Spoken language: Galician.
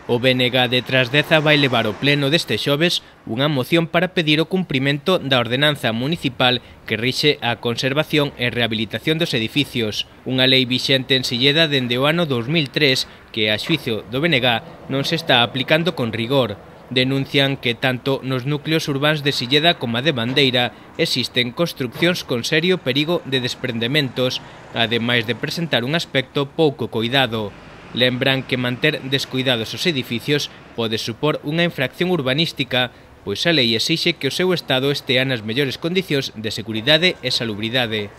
O BNG de Trasdeza vai levar ao pleno deste xoves unha moción para pedir o cumprimento da ordenanza municipal que rixe a conservación e rehabilitación dos edificios, unha lei vixente en Silleda dende o ano 2003 que, a xuizo do BNG, non se está aplicando con rigor. Denuncian que tanto nos núcleos urbáns de Silleda como a de Bandeira existen construccións con serio perigo de desprendementos, ademais de presentar un aspecto pouco coidado. Lembran que manter descuidados os edificios pode supor unha infracción urbanística, pois a lei exixe que o seu estado estea nas mellores condicións de seguridade e salubridade.